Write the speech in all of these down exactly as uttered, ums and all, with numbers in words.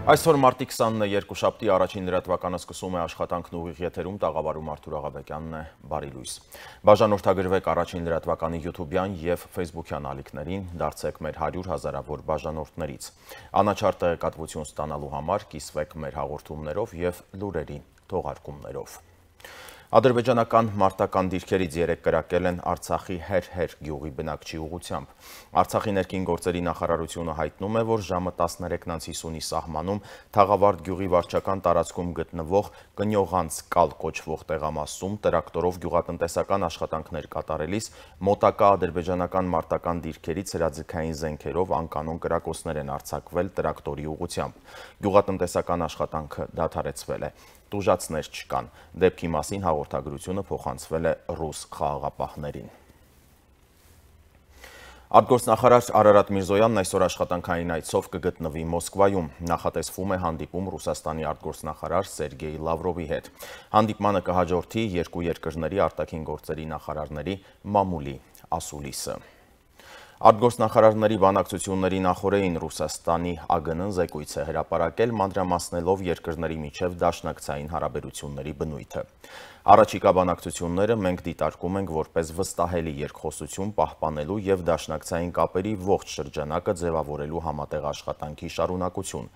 Այսօր մարտի քսանինը երկուշաբթի առաջին լրատվականը սկսում է աշխատանքն ուղիղ եթերում, տաղավարում Արթուր Աղաբեկյանն է, բարի լույս։ Բաժանորդագրվեք առաջին լրատվականի յութուբյան և ֆեյսբուքյան ալիքներին, դարձեք մեր հարյուր հազարավոր բաժանորդներից։ Անաչառ տեղեկատվություն ստանալու համար կիսվեք մեր հաղորդումներով և լուրերի թողարկումներով։ Ադրբեջանական մարտական դիրքերից երեք կրակել են Արցախի Հեր-Հեր գյուղի բնակչի ուղղությամբ։ Արցախի ներքին գործերի նախարարությունը հայտնում է, որ ժամը տասներեքն հիսունի սահմանում Թաղավարտ գյուղի վարչական տարածքում գտնվող Կնյողանց կալ կոչվող տեղամասում տրակտորով գյուղատնտեսական աշխատանքներ կատարելիս մոտակա ադրբեջանական մարտական դիրքերից հրաձգային զենքերով անկանոն կրակոցներ են արձակվել տրակտորի ուղղությամբ։ Գյուղատնտեսական աշխատանքը դադարեցվել է։ Տուժածներ չկան։ Դեպքի մասին հաղորդագրությունը փոխանցվել է ռուս խաղաղապահներին։ Արտգործնախարար Արարատ Միրզոյանն այսօր աշխատանքային այցով կգտնվի Մոսկվայում։ Նախատեսվում է հանդիպում Ռուսաստանի արտգործնախարար Սերգեյ Լավրովի հետ։ Հանդիպմանը կհաջորդի երկու երկրների արտաքին գործերի նախարարների մամուլի ասուլիսը։ Արտգործնախարարների բանակցությունների նախօրեին Ռուսաստանի ԱԳՆ-ն զեկույց է հրապարակել, մանրամասնելով երկրների միջև դաշնակցային հարաբերությունների բնույթը։ Առաջիկա բանակցությունները մենք դիտարկում ենք որպես վստահելի երկխոսություն պահպանելու և դաշնակցային կապերի ողջ շրջանակը ձևավորելու համատեղ աշխատանքի շարունակություն։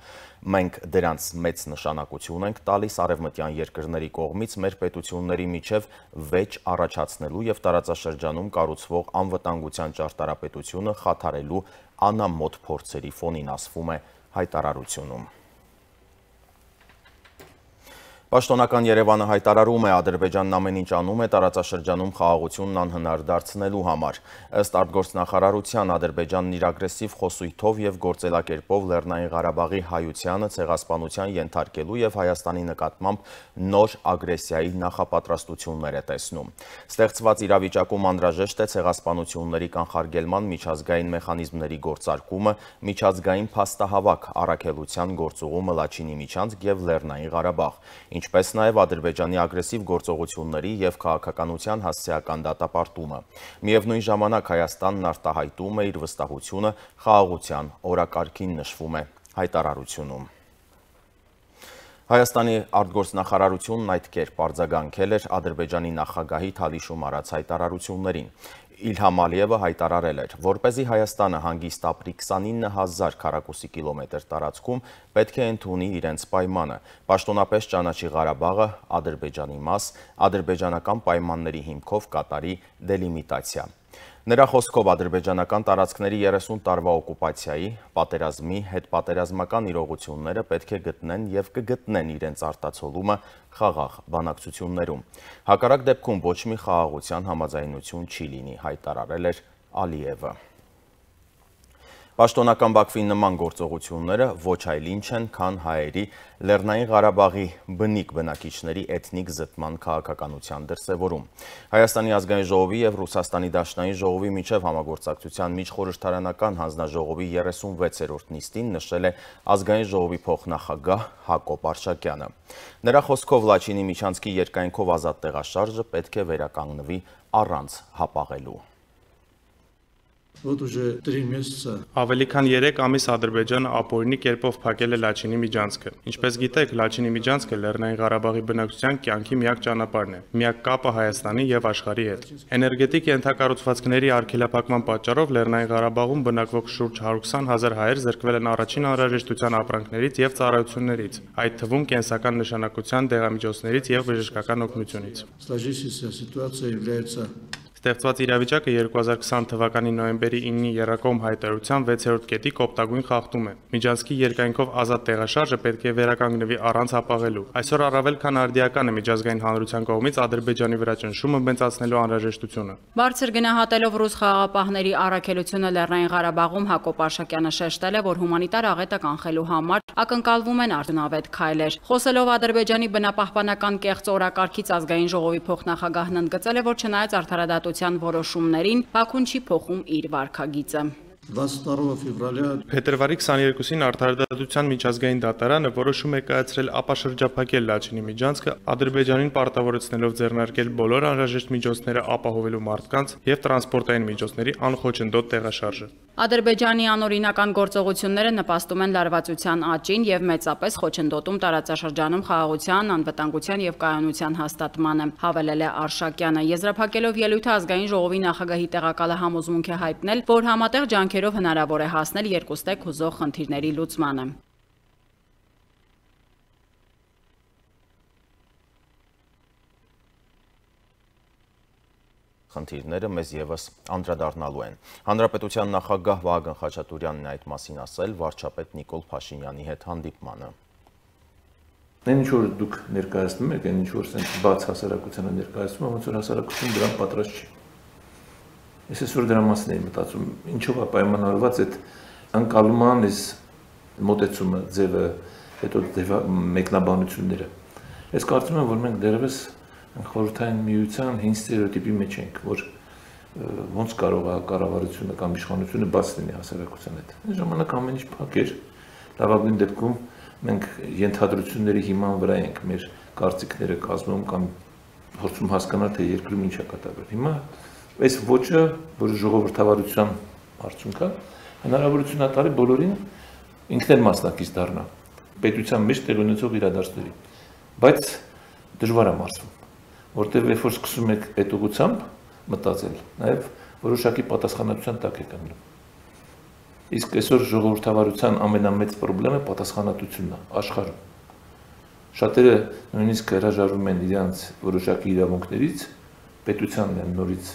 Մենք դրանց մեծ նշանակություն ենք տալիս արևմտյան երկրների կողմից մեր պետությունների միջև վեճ առաջացնելու և տարածաշրջանում կառուցվող անվտանգության ճարտարապետությունը խաթարելու անամոթ փորձերի ֆոնին, ասվում է հայտարարությունում։ Պաշտոնական Երևանը հայտարարում է, Ադրբեջանն ամեն ինչ անում է տարածաշրջանում խաղաղությունն անհնար դարձնելու համար։ Ըստ արտգործնախարարության, Ադրբեջանն իր ագրեսիվ խոսույթով և գործելակերպով Լեռնային Ղարաբաղի հայությանը ցեղասպանության ենթարկելու և Հայաստանի նկատմամբ նոր ագրեսիայի նախապատրաստություններ է տեսնում։ Ստեղծված իրավիճակում անհրաժեշտ է ցեղասպանությունների կանխարգելման միջազգային մեխանիզմների գործարկումը, միջազգային փաստահավաք առաքելության գործուղումը Լաչինի միջանցք և Լեռնային Ղարաբաղ, ինչպես նաև Ադրբեջանի ագրեսիվ գործողությունների և քաղաքականության հասցեական դատապարտումը։ Միևնույն ժամանակ Հայաստանն արտահայտում է իր վստահությունը խաղաղության օրակարգին, նշվում է հայտարարությունում։ Հայաստանի արտգործնախարարությունն այդ կերպ արձագանքել էր Ադրբեջանի նախագահի Թալիշում արած հայտարարություններին։ Իլհամ Ալիևը հայտարարել էր, որպեսզի Հայաստանը հանգիստ ապրի քսանինը հազար քառակուսի կիլոմետր տարածքում, պետք է ընդունի իրենց պայմանը, պաշտոնապես ճանաչի Ղարաբաղը Ադրբեջանի մաս, ադրբեջանական պայմանների հիմքով կատարի դելիմիտացիա։ Նրա խոսքով ադրբեջանական տարածքների երեսուն տարվա օկուպացիայի, պատերազմի, հետպատերազմական իրողությունները պետք է գտնեն և կգտնեն իրենց արտացոլումը խաղաղ բանակցություններում։ Հակառակ դեպքում ոչ մի խաղաղության համաձայնություն չի լինի, հայտարարել էր Ալիևը։ Պաշտոնական Բաքվի նման գործողությունները ոչ այլ ինչ են, քան հայերի Լեռնային Ղարաբաղի բնիկ բնակիչների էթնիկ զտման քաղաքականության դրսևորում։ Հայաստանի ազգային ժողովի և Ռուսաստանի Դաշնային ժողովի միջև համագործակցության միջխորհրդարանական հանձնաժողովի երեսունվեցերորդ նիստին նշել է ազգային ժողովի փոխնախագահ Հակոբ Արշակյանը։ Նրա խոսքով Լաչինի միջանցքի երկայնքով ազատ տեղաշարժը պետք է վերականգնվի առանց հապաղելու։ Ավելի քան երեք ամիս Ադրբեջանը ապօրինի կերպով փակել է Լաչինի միջանցքը։ Ինչպես գիտեք, Լաչինի միջանցքը Լեռնային Ղարաբաղի բնակչության կյանքի միակ ճանապարհն է, միակ կապը Հայաստանի և աշխարհի հետ։ Էներգետիկ ենթակառուցվածքների արգելափակման պատճառով Լեռնային Ղարաբաղում բնակվող շուրջ հարյուր քսան հազար հայեր զրկվել են առաջին անհրաժեշտության ապրանքներից և ծառայություններից, այդ թվում կենսական նշանակության դեղամիջոցներից և բժշկական օգնությունից։ Ստեղծված իրավիճակը երկու հազար քսան թվականի նոյեմբերի իննի եռակողմ հայտարարության վեցերորդ կետի կոպտագույն խախտում է։ Միջանցքի երկայնքով ազատ տեղաշարժը պետք է վերականգնվի առանց հապաղելու։ Այսօր առավել քան արդիական է միջազգային հանրության կողմից Ադրբեջանի վրա ճնշումը մեծացնելու անհրաժեշտությունը։ Բարձր գնահատելով ռուս խաղաղապահների առաքելությունը Լեռնային Ղարաբաղում, Հակոբ Արշակյանը շեշտել է, որ հումանիտար աղետը կանխելու համար ակնկալվում են արդյունավետ քայլեր։ Խոսելով Ադրբեջանի բնապահպանական կեղծ օրակարգից ազգային ժողովի փոխնախագահն ընդգծել է, որ չնայած արդարադատության որոշումներին, Բաքուն չի փոխում իր վարքագիծը։ Փետրվարի քսաներկուսին Արդարադատության միջազգային դատարանը որոշում է կայացրել ապաշրջափակել Լաչինի միջանցքը, Ադրբեջանին պարտավորեցնելով ձեռնարկել բոլոր անհրաժեշտ միջոցները ապահովելու մարդկանց և տրանսպորտային միջոցների անխոչնդոտ տեղաշարժը։ Ադրբեջանի անօրինական գործողությունները նպաստում են լարվածության աճին եւ մեծապես խոչընդոտում տարածաշրջանում խաղաղության, անվտանգության եւ կայունության հաստատմանը, հավելել է Արշակյանը։ Եզրափակելով ելույթը ազգային ժողովի նախագահի տեղակալը համոզմունք է հայտնել, որ համատեղ ջանքերով հնարավոր է հասնել երկուստեք հուզող խնդիրների լուծմանը։ Խնդիրները մեզ եւս անդրադառնալու են։ Հանրապետության նախագահ Վահագն Խաչատուրյանն այդ մասին ասել վարչապետ Նիկոլ Փաշինյանի հետ հանդիպմանը։ Այն ինչ որ դուք ներկայացնում եք, այն ինչ որ sense բաց հասարակությանը ներկայացնում, ոնց որ հասարակությունը դրան պատրաստ չի։ Ես այսօր դրա մասին եմ մտածում, ինչով է պայմանավորված այդ անկալման այս մոտեցումը, ձևը, հետո մեկնաբանությունները։ Ես կարծում եմ, որ մենք դեռևս խորհրդային միության հին ստերեոտիպի մեջ ենք, որ ոնց կարող է կառավարությունը կամ իշխանությունը բաց լինի հասարակության հետ։ Այս ժամանակ ամեն ինչ փակ էր, լավագույն դեպքում մենք ենթադրությունների հիման վրա ենք մեր կարծիքները կազմում կամ փորձում հասկանալ, թե երկրում ինչ է կատարվել։ Հիմա այս ոճը, որը ժողովրդավարության արդյունք է, հնարավորություն է տալի բոլորին ինքն էլ մասնակից դառնա պետության մեջ տեղի ունեցող իրադարձների, բայց դժվար է մարզվում, որտեղ երբ որ սկսում եք այդ ուղղությամբ մտածել, նաև որոշակի պատասխանատվության տակ եք ընկնում։ Իսկ այսօր ժողովրդավարության ամենամեծ խնդիրը պատասխանատվությունն է աշխարհում։ Շատերը նույնիսկ հրաժարվում են իրենց որոշակի իրավունքներից, պետությանն են նորից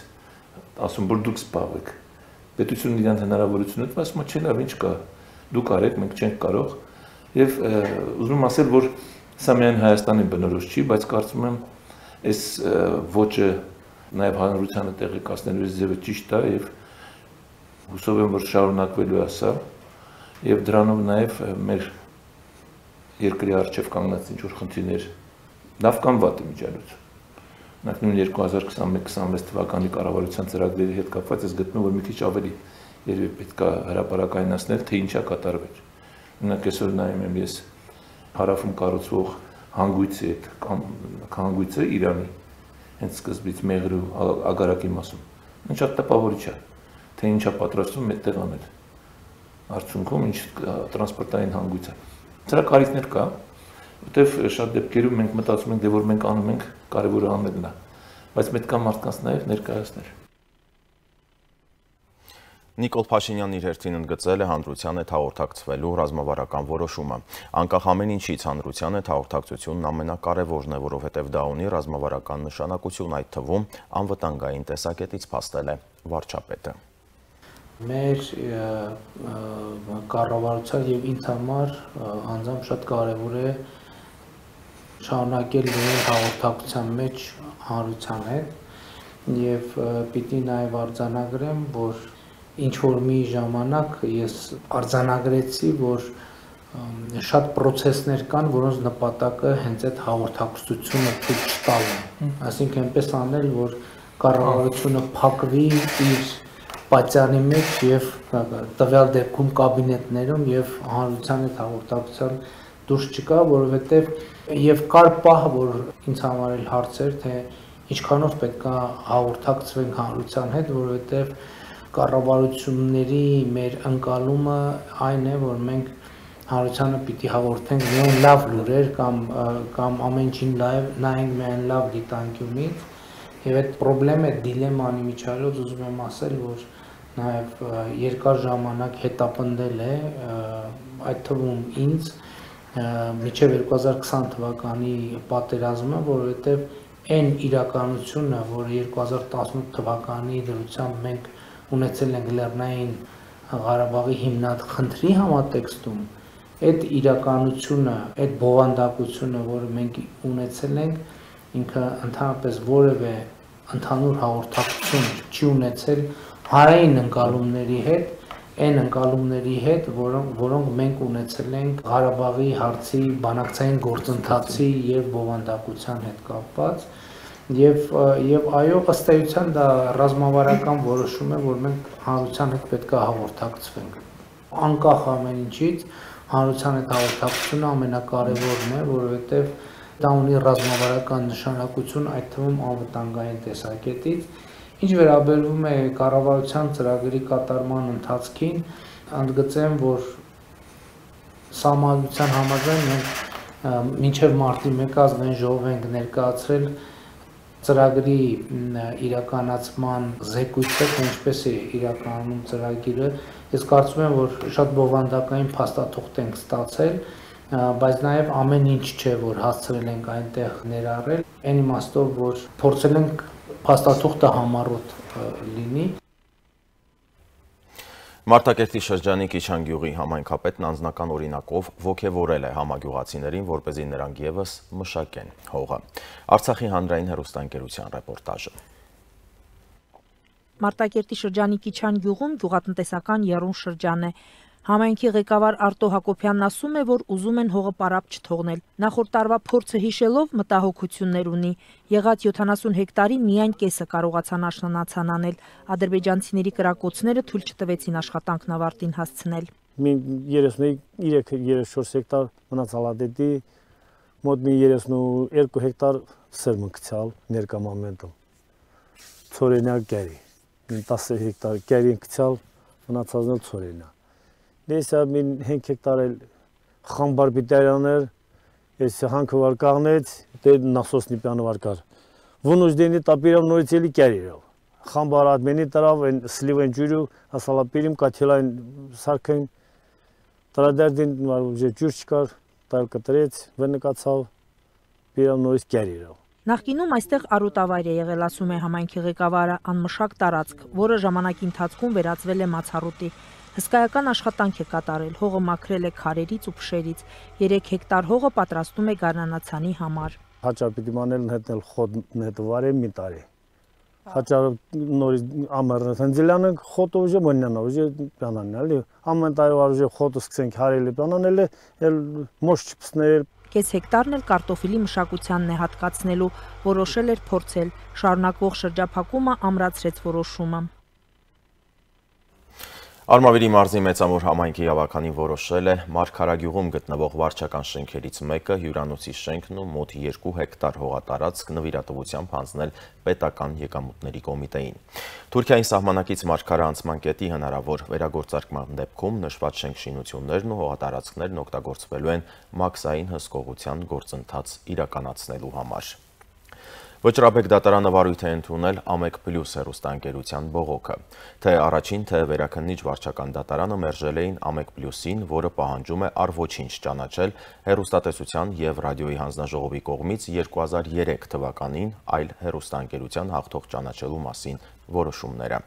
ասում, որ դուք զբաղվեք։ Պետությունն իրենց հնարավորությունը տվեց, ասում է, չէ, լավ, ինչ կա, դուք արեք, մենք չենք կարող։ Եվ ուզում եմ ասել, որ սա միայն Հայաստանի բնորոշ չի, բայց կարծում եմ այս ոճը նաև հանրությանը տեղեկացնելու ձևը ճիշտ է եւ հուսով եմ, որ շարունակվելու է սա եւ դրանով նաև մեր երկրի առջև կանգնած ինչ որ խնդիրներ լավ կամ վատ միջալուց։ Նախ նույն երկու հազար քսանմեկ քսանվեց թվականի կառավարության ծրագրերի հետ կապված ես գտնում, որ մի քիչ ավելի երևի պետք է հրապարակայնացնել, թե ինչա կատարվել։ Օրինակ այսօր նայում եմ ես հարավում կառուցվող հանգույցի այդ հանգույցը Իրանի հենց սկզբից Մեղրու ագարակի մասում։ Ինչ շատ տպավորիչ է, թե ինչա պատրաստվում այդտեղ անել։ Արդյունքում ինչ տրանսպորտային հանգույց է։ Դրա կարիքներ կա, որտեվ շատ դեպքերում մենք մտածում ենք, դե որ մենք անում ենք, կարևորը անելն է, բայց պետք է մարդկանց նաև ներկայացնել։ Նիկոլ Փաշինյանն իր հերթին ընդգծել է հանրության հետ հաղորդակցվելու ռազմավարական որոշումը։ Անկախ ամեն ինչից հանրության հետ հաղորդակցությունն ամենակարևորն է, որովհետև դա ունի ռազմավարական նշանակություն, այդ թվում անվտանգային տեսակետից փաստել է վարչապետը։ Մեր կառավարության եւ ինձ համար անձամբ շատ կարևոր է շարունակել լինել հաղորդակցության մեջ հանրության հետ եւ պիտի նաեւ արձանագրեմ, որ ինչ որ մի ժամանակ ես արձանագրեցի, որ շատ process-ներ կան, որոնց նպատակը հենց այդ հաղորդակցությունը ցույց տալն է։ Այսինքն այնպես անել, որ կառավարությունը փակվի իր պատյանի մեջ եւ տվյալ դեպքում կաբինետներում եւ հանրության հետ հաղորդակցության դուրս չկա, որովհետեւ եւ կար պահ, որ ինձ համար էլ հարց էր, թե ինչքանով պետք է հաղորդակցվենք հանրության հետ, որովհետեւ կառավարությունների մեր ընկալումը այն է, որ մենք հանրությանը պիտի հաղորդենք միայն լավ լուրեր կամ կամ ամեն ինչին նայենք միայն լավ դիտանկյունից եւ այդ խնդրեմը դիլեման միջալոց ուզում եմ ասել, որ նաեւ երկար ժամանակ հետապնդել է այդ թվում ինձ մինչեւ երկու հազար քսան թվականի պատերազմը, որովհետեւ այն իրականությունը, որը երկու հազար տասնութ թվականի դրությամբ մենք ունեցել ենք Լեռնային Ղարաբաղի հիմնախնդրի համատեքստում, այդ իրականությունը, այդ բովանդակությունը, որը մենք ունեցել ենք, ինքը ընդհանրապես որևէ ընդհանուր հաղորդակցություն չի ունեցել հարային ընկալումների հետ, այն ընկալումների հետ, որոնք, որոնք մենք ունեցել ենք Ղարաբաղի հարցի բանակցային գործընթացի եւ բովանդակության հետ կապված։ Եվ եւ այո, ըստ էության դա ռազմավարական որոշում է, որ մենք հանրության հետ պետք է հաղորդակցվենք։ Անկախ ամեն ինչից հանրության հետ հաղորդակցությունը ամենակարևորն է, որովհետեւ դա ունի ռազմավարական նշանակություն, այդ թվում անվտանգային տեսակետից, Ինչ վերաբերում է կառավարության ծրագրի կատարման ընթացքին, ընդգծեմ, որ Սահմանադրության համաձայն մենք մինչև մարտի մեկը ազգային ժողով ենք ներկայացրել ծրագրի իրականացման զեկույցը, թե ինչպես է իրականում ծրագիրը։ Ես կարծում եմ, որ շատ բովանդակային փաստաթուղթ ենք ստացել, բայց նաև ամեն ինչ չէ, որ հասցրել ենք այնտեղ ներառել, այն իմաստով, որ փորձել ենք փաստաթուղթը համառոտ լինի։ Մարտակերտի շրջանի Կիչան գյուղի համայնքապետն անձնական օրինակով ոգևորել է համագյուղացիներին, որպեսզի նրանք ևս մշակեն հողը։ Արցախի հանրային հեռուստաընկերության ռեպորտաժը։ Մարտակերտի շրջանի Կիչան գյուղում գյուղատնտեսական եռուն շրջան է։ Համայնքի ղեկավար Արտո Հակոբյանն ասում է, որ ուզում են հողը պարապ չթողնել։ Նախորդ տարվա փորձը հիշելով մտահոգություններ ունի։ Եղած յոթանասուն հեկտարի միայն կեսը կարողացան աշնանացան անել։ Ադրբեջանցիների կրակոցները թույլ չտվեցին աշխատանքն ավարտին հասցնել։ Մի երեսունյոթ երեսունչորս հեկտար մնացալադետի, մոտ մի երեսունուերկու հեկտար սերմնքցալ ներկա մոմենտում։ Ցորենյակ գերի, տասը հեկտար գերի ընկցալ, մնացածն էլ ցորենյակ։ Դեսա մին հինգ հեկտար էլ խամբար բիտարյաներ, ես հանքը վար կաղնեց, դե նասոսնի պյանը վար կար։ Վունուշ դենի տապիրամ նորից էլի կերիրով։ Խամբար ադմենի տրավ, են սլիվ են ջուրու, ասալապիրիմ կաթիլային սարքային, տրադերդին ջուր չկար, տայլ կտրեց, վնկացավ, պիրամ նորից կերիրով։ Նախկինում այստեղ առուտավայր է եղել, ասում է համայնքի ղեկավարը, անմշակ տարածք, որը ժամանակի ընթացքում վերածվել է մացառուտի։ Հսկայական աշխատանք է կատարել, հողը մաքրել է քարերից ու փշերից, երեք հեկտար հողը պատրաստում է գարնանացանի համար։ Հաճար պիտի մանել հետնել խոտ նետվարը մի տարի։ Հաճար նորից ամեռն հնձելանը խոտը ուժը մնյանա, ուժը պյանանն էլի։ Ամեն տարի վար ուժը խոտը սկսենք հարելի պյանանել է, էլ մոշ չպսնել։ Կես հեկտարն էլ կարտոֆիլի մշակությանն է հատկացնելու, որոշել էր փորձել, շարունակվող շրջափակումը ամրացրեց որոշումը։ Արմավիրի մարզի մեծամոր համայնքի ավականին որոշել է Մարգարագյուղում գտնվող վարչական շենքերից մեկը հյուրանոցի շենքն ու մոտ երկու հեկտար հողատարածք նվիրատվությամբ հանձնել պետական եկամուտների կոմիտեին։ Թուրքիայի սահմանակից Մարգարը անցման կետի հնարավոր վերագործարկման դեպքում նշված շենք-շինություններն ու հողատարածքներն օգտագործվելու են մաքսային հսկողության գործընթաց իրականացնելու համար։ Վճռաբեկ դատարանը վարույթ է ընդունել Ամեկ Պլյուս հեռուստաընկերության բողոքը, թե առաջին, թե վերաքննիչ վարչական դատարանը մերժել էին Ամեկ Պլյուսին, որը պահանջում է առ ոչինչ ճանաչել հեռուստատեսության և ռադիոյի հանձնաժողովի կողմից երկու հազար երեք թվականին այլ հեռուստաընկերության հաղթող ճանաչելու մասին որոշումները։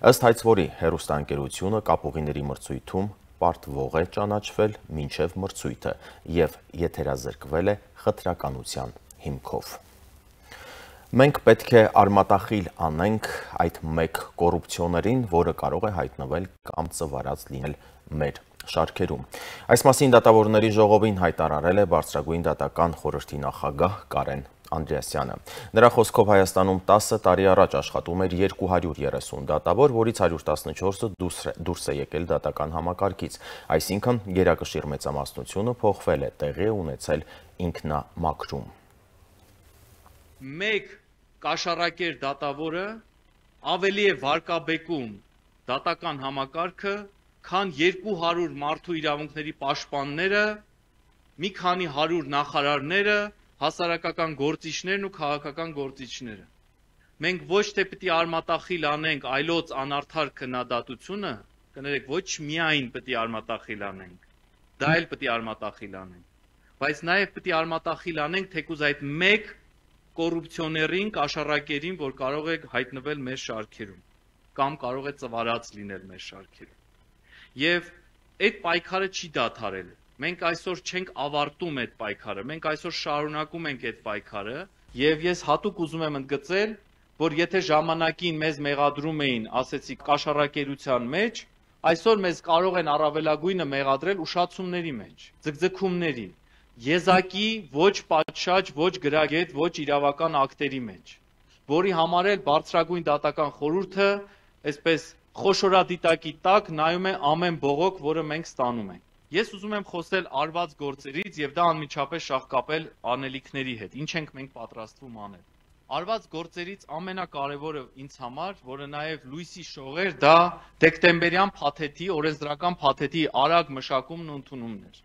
Ըստ հայցվորի հեռուստաընկերությունը կապուղիների մրցույթում պարտվող է ճանաչվել մինչև մրցույթը և եթերազրկվել է խտրականության հիմքով։ Մենք պետք է արմատախիլ անենք այդ մեկ կոռուպցիոներին, որը կարող է հայտնվել կամ ծվարած լինել մեր շարքերում։ Այս մասին դատավորների ժողովին հայտարարել է Բարձրագույն դատական խորհրդի նախագահ Կարեն Անդրեասյանը։ Նրա խոսքով Հայաստանում տասը տարի առաջ աշխատում էր երկու հարյուր երեսուն դատավոր, որից հարյուր տասնչորսը դուրս է եկել դատական համակարգից, այսինքն գերակշիռ մեծամասնությունը փոխվել է, տեղի ունեցել ինքնամաքրում։ Մեկ կաշառակեր դատավորը ավելի է վարկաբեկում դատական համակարգը, քան երկու հարյուր մարդու իրավունքների պաշտպանները, մի քանի հարյուր նախարարները, հասարակական գործիչներն ու քաղաքական գործիչները։ Մենք ոչ թե պիտի արմատախիլ անենք այլոց անարդար քննադատությունը, կներեք, ոչ միայն պիտի արմատախիլ անենք, դա էլ պիտի արմատախիլ անենք, բայց նաև պիտի արմատախիլ անենք թեկուզ այդ մեկ կոռուպցիոներին, կաշառակերին, որ կարող է հայտնվել մեր շարքերում, կամ կարող է ծվարած լինել մեր շարքերում։ Եվ այդ պայքարը չի դադարել։ Մենք այսօր չենք ավարտում այդ պայքարը, մենք այսօր շարունակում ենք այդ պայքարը, եւ ես հատուկ ուզում եմ ընդգծել, որ եթե ժամանակին մեզ մեղադրում էին, ասեցի, կաշառակերության մեջ, այսօր մեզ կարող են առավելագույնը մեղադրել ուշացումների մեջ, ձգձգումների, եզակի ոչ պատշաճ, ոչ գրագետ, ոչ իրավական ակտերի մեջ, որի համար էլ Բարձրագույն դատական խորհուրդը այսպես խոշորադիտակի տակ նայում է ամեն բողոք, որը մենք ստանում ենք։ Ես ուզում եմ խոսել արված գործերից եւ դա անմիջապես շահկապել անելիքների հետ, ինչ ենք մենք պատրաստվում անել։ արված գործերից ամենակարևորը ինձ համար, որը նաև լույսի շողեր, դա դեկտեմբերյան փաթեթի, օրենսդրական փաթեթի արագ մշակումն ու ընդունումն էր։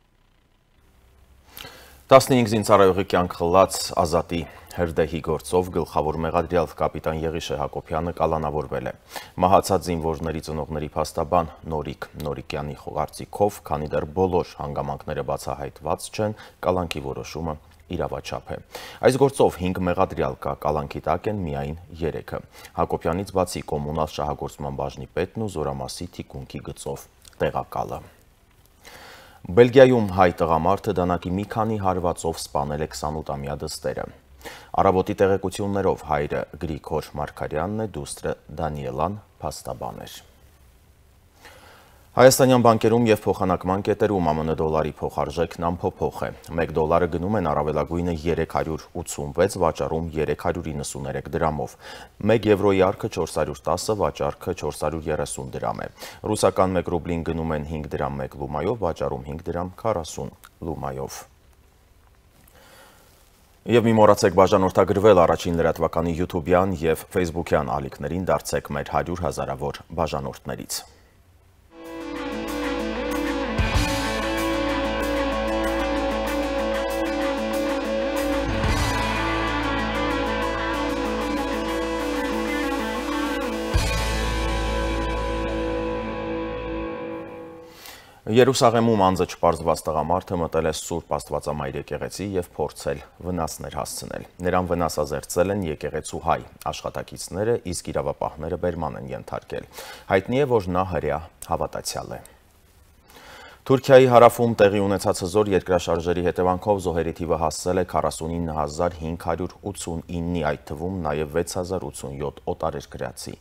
տասնհինգ զինծառայողի կյանք խլած Ազատի հրդեհի գործով գլխավոր մեղադրյալ կապիտան Եղիշե Հակոբյանը կալանավորվել է։ Մահացած զինվորների ծնողների փաստաբան Նորիկ Նորիկյանի կարծիքով, քանի դեռ բոլոր հանգամանքները բացահայտված չեն, կալանքի որոշումը իրավաչափ է։ Այս գործով հինգ մեղադրյալ կա, կալանքի տակ են միայն երեքը։ Հակոբյանից բացի կոմունալ շահագործման բաժնի պետն ու Զորամասի թիկունքի գծով տեղակալը։ Բելգիայում հայ տղամարդը դանակի մի քանի հարվածով սպանել է քսանութամյա դստերը։ Առավոտի տեղեկություններով հայրը Գրիգոր Մարգարյանն է, դուստրը Դանիելան փաստաբան էր։ Հայաստանյան բանկերում և փոխանակման կետերում ԱՄՆ դոլարի փոխարժեքն անփոփոխ է։ մեկ դոլարը գնում են առավելագույնը երեք հարյուր ութսունվեց, վաճառում երեք հարյուր իննսուներեք դրամով։ մեկ եվրոյի առքը չորս հարյուր տասը, վաճառքը չորս հարյուր երեսուն դրամ է։ Ռուսական մեկ ռուբլին գնում են հինգ դրամ մեկ լումայով, վաճառում հինգ դրամ քառասուն լումայով։ Եվ մի մոռացեք բաժանորդագրվել առաջին լրատվականի յութուբյան և ֆեյսբուքյան ալիքներին, դարձեք մեր հարյուր հազարավոր բաժանորդներից։ Երուսաղեմում անձը չպարզված տղամարդը մտել է Սուրբ Աստվածամայր եկեղեցի և փորձել վնասներ հասցնել։ Նրան վնասազերծել են եկեղեցու հայ աշխատակիցները, իսկ իրավապահները բերման են ենթարկել։ Հայտնի է, որ նա հրեա հավատացյալ է։ Թուրքիայի հարավում տեղի ունեցած հզոր երկրաշարժերի հետևանքով զոհերի թիվը հասել է քառասունինը հազար հինգ հարյուր ութսունինի, այդ թվում նաև վեց հազար ութսունյոթ օտարերկրացի։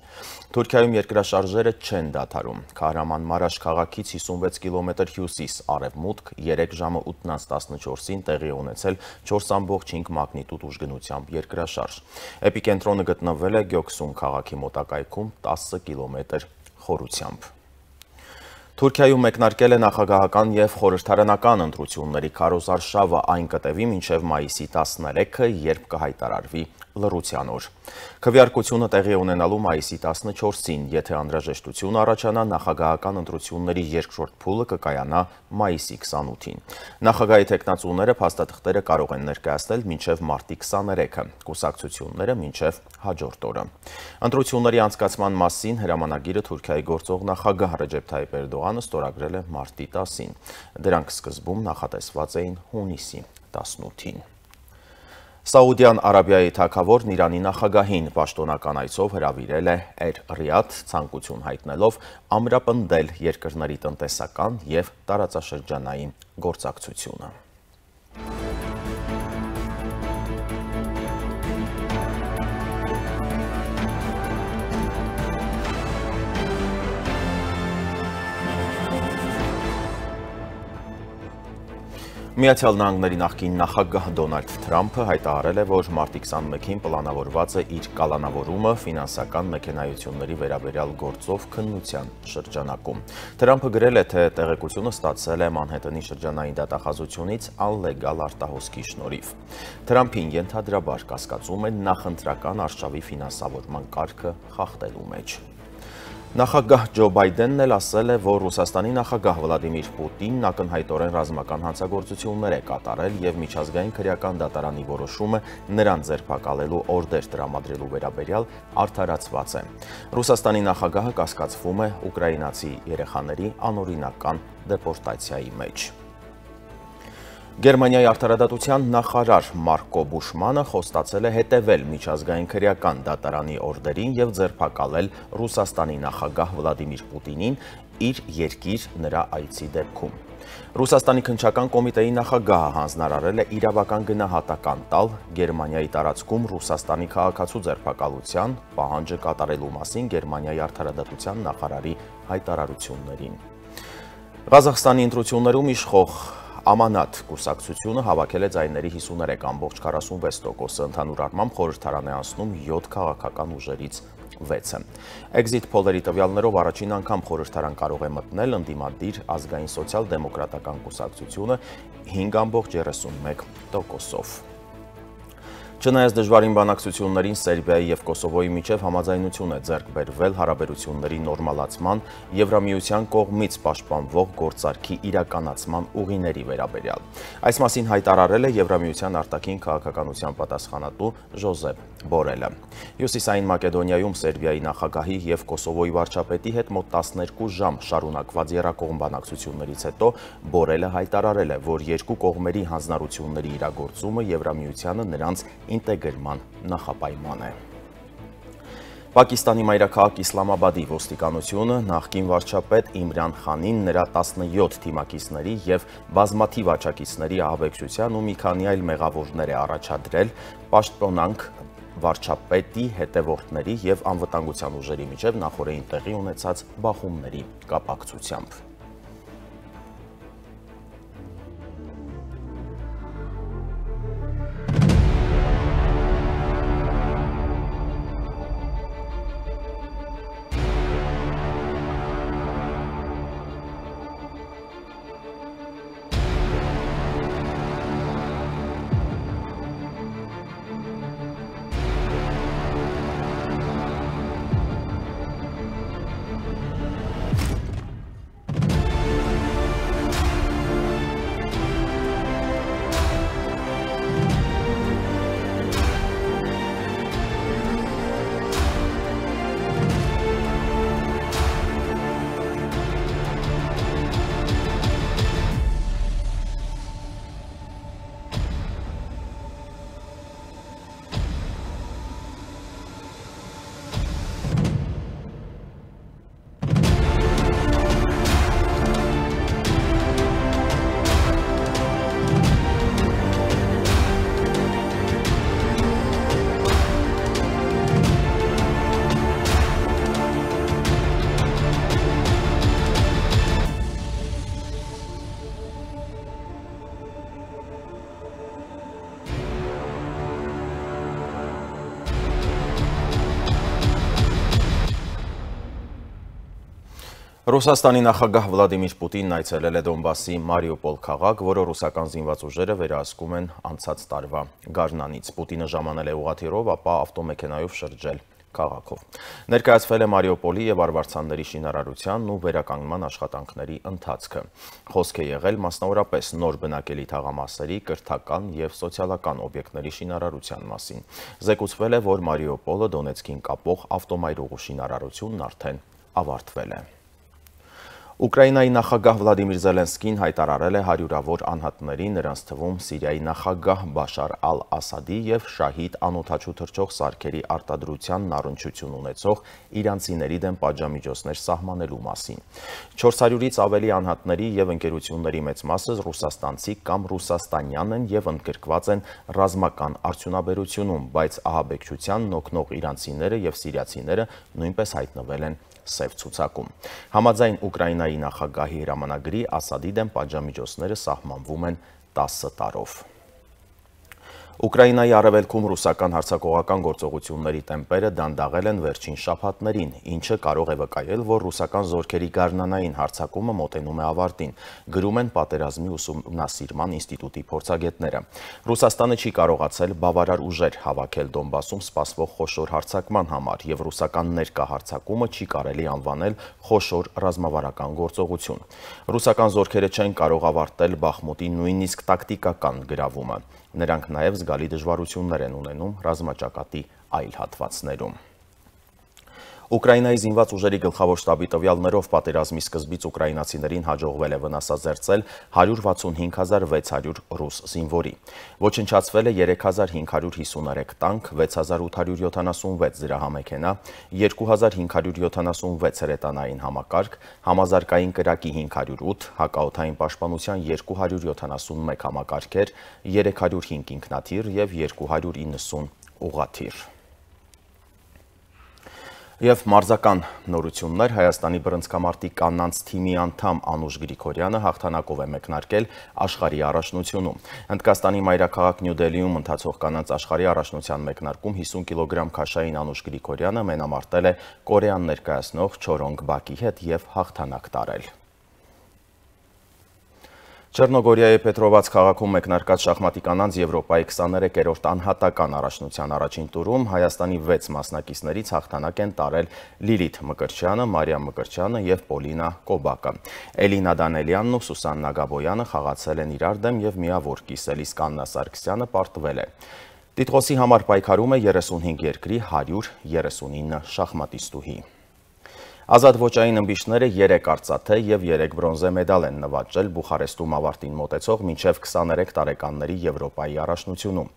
Թուրքիայում երկրաշարժերը չեն դադարում։ Քահրամանմարաշ քաղաքից հիսունվեց կիլոմետր հյուսիս արևմուտք երեք ժամը ութ տասնչորսին տեղի է ունեցել չորս ամբողջ հինգ մագնիտուդ ուժգնությամբ երկրաշարժ։ Էպիկենտրոնը գտնվել է Գյոքսուն քաղաքի մոտակայքում տասը կիլոմետր խորությամբ։ Թուրքիայում մեկնարկել է նախագահական և խորհրդարանական ընտրությունների քարոզարշավը, այն կտևի մինչև մայիսի տասներեքը, երբ կհայտարարվի լռության օր։ Քվեարկությունը տեղի է ունենալու մայիսի տասնչորսին, եթե անհրաժեշտություն առաջանա, նախագահական ընտրությունների երկրորդ փուլը կկայանա մայիսի քսանութին։ Նախագահի թեկնածուները փաստաթղթերը կարող են ներկայացնել մինչև մարտի քսաներեքը, կուսակցությունները մինչև հաջորդ օրը։ Ընտրությունների անցկացման մասին հրամանագիրը Թուրքիայի գործող նախագահ Ռեջեփ Թայիփ Էրդողանը ստորագրել է մարտի տասին։ Դրանք սկզբում նախատեսված էին հունիսի տասնութին։ Սաուդյան Արաբիայի թագավորն Իրանի նախագահին պաշտոնական այցով հրավիրել է Էր-Ռիադ, ցանկություն հայտնելով ամրապնդել երկրների տնտեսական և տարածաշրջանային գործակցությունը։ Միացյալ Նահանգների նախկին նախագահ Դոնալդ Թրամփը հայտարարել է, որ մարտի քսանմեկին պլանավորված է իր կալանավորումը ֆինանսական մեքենայությունների վերաբերյալ գործով քննության շրջանակում։ Թրամփը գրել է, թե տեղեկությունը ստացել է Մանհեթենի շրջանային դատախազությունից անլեգալ արտահոսքի շնորհիվ։ Թրամփին ենթադրաբար կասկածում են նախընտրական արշավի ֆինանսավորման կարգը խախտելու մեջ։ Նախագահ Ջո Բայդենն էլ ասել է, որ Ռուսաստանի նախագահ Վլադիմիր Պուտինն ակնհայտորեն ռազմական հանցագործություններ է կատարել և միջազգային քրեական դատարանի որոշումը նրան ձերբակալելու օրդեր տրամադրելու վերաբերյալ արդարացված է։ Ռուսաստանի նախագահը կասկածվում է ուկրաինացի երեխաների անօրինական դեպորտացիայի մեջ։ Գերմանիայի արդարադատության նախարար Մարկո Բուշմանը խոստացել է հետևել միջազգային քրեական դատարանի օրդերին և ձերբակալել Ռուսաստանի նախագահ Վլադիմիր Պուտինին իր երկիր նրա այցի դեպքում։ Ռուսաստանի քննչական կոմիտեի նախագահը հանձնարարել է իրավական գնահատական տալ Գերմանիայի տարածքում Ռուսաստանի քաղաքացու ձերբակալության պահանջը կատարելու մասին Գերմանիայի արդարադատության նախարարի հայտարարություններին։ Ղազախստանի ընտրություններում իշխող Ամանատ կուսակցությունը հավաքել է ձայների հիսուներեք ամբողջ քառասունվեց տոկոսը, ընդհանուր առմամբ խորհրդարան է անցնում յոթ քաղաքական ուժերից վեցը։ Էքզիթ փոլերի տվյալներով առաջին անգամ խորհրդարան կարող է մտնել ընդդիմադիր ազգային սոցիալ-դեմոկրատական կուսակցությունը հինգ ամբողջ երեսունմեկ տոկոսով։ Չնայած դժվարին բանակցություններին Սերբիայի և Կոսովոյի միջև համաձայնություն է ձեռք բերվել հարաբերությունների նորմալացման, Եվրամիության կողմից պաշտպանվող գործարքի իրականացման ուղիների վերաբերյալ։ Այս մասին հայտարարել է Եվրամիության արտաքին քաղաքականության պատասխանատու Ժոզեփ Բորելը։ Հյուսիսային Մակեդոնիայում Սերբիայի նախագահի և Կոսովոյի վարչապետի հետ մոտ տասներկու ժամ շարունակված եռակողմ բանակցություններից հետո Բորելը հայտարարել է, որ երկու կողմերի հանձնառությունների իրագործումը Եվրամիությանը նրանց ինտեգրման նախապայման է։ Պակիստանի մայրաքաղաք Իսլամաբադի ոստիկանությունը նախկին վարչապետ Իմրան Խանին, նրա տասնյոթ թիմակիցների և բազմաթիվ աջակիցների ահաբեկչության ու մի քանի այլ մեղավորներ է առաջադրել պաշտոնանք վարչապետի հետևորդների և անվտանգության ուժերի միջև նախօրեին տեղի ունեցած բախումների կապակցությամբ։ Ռուսաստանի նախագահ Վլադիմիր Պուտինն այցելել է Դոնբասի Մարիուպոլ քաղաք, որը ռուսական զինված ուժերը վերահսկում են անցած տարվա գարնանից։ Պուտինը ժամանել է ուղղաթիռով, ապա ավտոմեքենայով շրջել քաղաքով։ Ներկայացվել է Մարիուպոլի և Արվարձանների շինարարությանն ու վերականգնման աշխատանքների ընթացքը։ Խոսք է եղել մասնավորապես նոր բնակելի թաղամասերի, կրթական և սոցիալական օբյեկտների շինարարության մասին։ Զեկուցվել է, որ Մարիուպոլը Դոնեցկին կապող ավտոմայրուղու շինարարությունն արդեն ավարտվել է։ Ուկրաինայի նախագահ Վլադիմիր Զելենսկին հայտարարել է հարյուրավոր անհատների, նրանց թվում Սիրիայի նախագահ Բաշար ալ-Ասադի և շահիդ անօդաչու թռչող սարքերի արտադրությանն առնչություն ունեցող իրանցիների դեմ պատժամիջոցներ սահմանելու մասին։ չորս հարյուրից ավելի անհատների և ընկերությունների մեծ մասը ռուսաստանցի կամ ռուսաստանյան են և ընդգրկված են ռազմական արդյունաբերությունում, բայց ահաբեկչությանն օգնող իրանցիները և սիրիացիները նույնպես հայտնվել են սև ցուցակում։ Համաձայն Ուկրաինայի նախագահի հրամանագրի Ասադի դեմ պատժամիջոցները սահմանվում են տասը տարով։ Ուկրաինայի արևելքում ռուսական հարձակողական գործողությունների տեմպերը դանդաղել են վերջին շաբաթներին, ինչը կարող է վկայել, որ ռուսական զորքերի գարնանային հարձակումը մոտենում է ավարտին, գրում են Պատերազմի ուսումնասիրման ինստիտուտի փորձագետները։ Ռուսաստանը չի կարողացել բավարար ուժեր հավաքել Դոնբասում սպասվող խոշոր հարձակման համար, և ռուսական ներկա հարձակումը չի կարելի անվանել խոշոր ռազմավարական գործողություն։ Ռուսական զորքերը չեն կարող ավարտել Բախմուտի նույնիսկ տակտիկական գրավումը։ Նրանք նաև զգալի դժվարություններ են ունենում ռազմաճակատի այլ հատվածներում։ Ուկրաինայի զինված ուժերի գլխավոր շտաբի տվյալներով պատերազմի սկզբից ուկրաինացիներին հաջողվել է վնասազերծել հարյուր վաթսունհինգ հազար վեց հարյուր ռուս զինվորի։ Ոչնչացվել է երեք հազար հինգ հարյուր հիսուներեք տանկ, վեց հազար ութ հարյուր յոթանասունվեց զրահամեքենա, երկու հազար հինգ հարյուր յոթանասունվեց հրետանային համակարգ, համազարգային կրակի հինգ հարյուր ութ, հակաօդային պաշտպանության երկու հարյուր յոթանասունմեկ համակարգեր, երեք հարյուր հինգ ինքնաթիռ և երկու հարյուր իննսուն ուղղաթիռ։ Եվ մարզական նորություններ, Հայաստանի բռնցքամարտի կանանց թիմի անդամ Անուշ Գրիգորյանը հաղթանակով է մեկնարկել աշխարհի առաջնությունում։ Հնդկաստանի մայրաքաղաք Նյու Դելիում ընթացող կանանց աշխարհի առաջնության մեկնարկում հիսուն կիլոգրամ քաշային Անուշ Գրիգորյանը մենամարտել է Կորեան ներկայացնող Չորոնգ Բակի հետ և հաղթանակ տարել։ Չեռնոգորիայի Պետրովաց քաղաքում մեկնարկած շախմատի կանանց Եվրոպայի քսաներեքերորդ անհատական առաջնության առաջին տուրում Հայաստանի վեց մասնակիցներից հաղթանակ են տարել Լիլիթ Մկրտչյանը, Մարիամ Մկրտչյանը եւ Պոլինա Կոբակը։ Էլինա Դանելյանն ու Սուսաննա Գաբոյանը խաղացել են իրար դեմ եւ միավոր կիսել, իսկ Աննա Սարգսյանը պարտվել է։ Տիտղոսի համար պայքարում է երեսունհինգ երկրի հարյուր երեսունինը շախմատիստուհի։ Ազատ ոճային ըմբիշները երեք արծաթե եւ երեք բրոնզե մեդալ են նվաճել Բուխարեստում ավարտին մոտեցող մինչև քսաներեք տարեկանների Եվրոպայի առաջնությունում։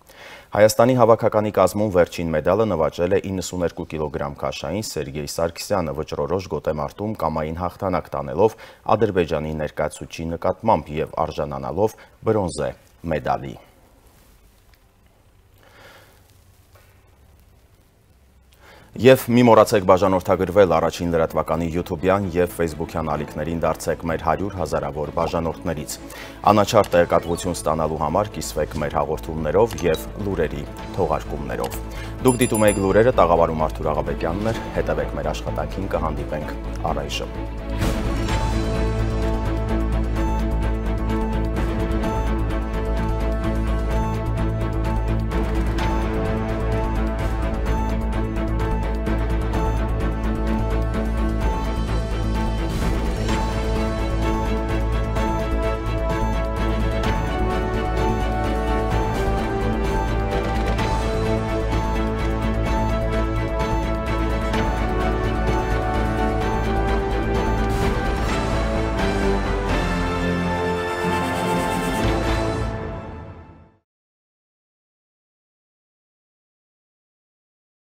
Հայաստանի հավաքականի կազմում վերջին մեդալը նվաճել է իննսուներկու կիլոգրամ քաշային Սերգեյ Սարգսյանը վճռորոշ գոտեմարտում կամային հաղթանակ տանելով Ադրբեջանի ներկայացուցիչի նկատմամբ եւ արժանանալով բրոնզե մեդալի։ Եվ մի մոռացեք բաժանորդագրվել առաջին լրատվականի յութուբյան եւ ֆեյսբուքյան ալիքներին դարձեք մեր հարյուր հազարավոր բաժանորդներից։ Անաչառ տեղեկատվություն ստանալու համար կիսվեք մեր հաղորդումներով եւ լուրերի թողարկումներով։ Դուք դիտում եք լուրերը, տաղավարում Արթուր Աղաբեկյանն էր, հետևեք մեր աշխատանքին, կհանդիպենք առայժմ։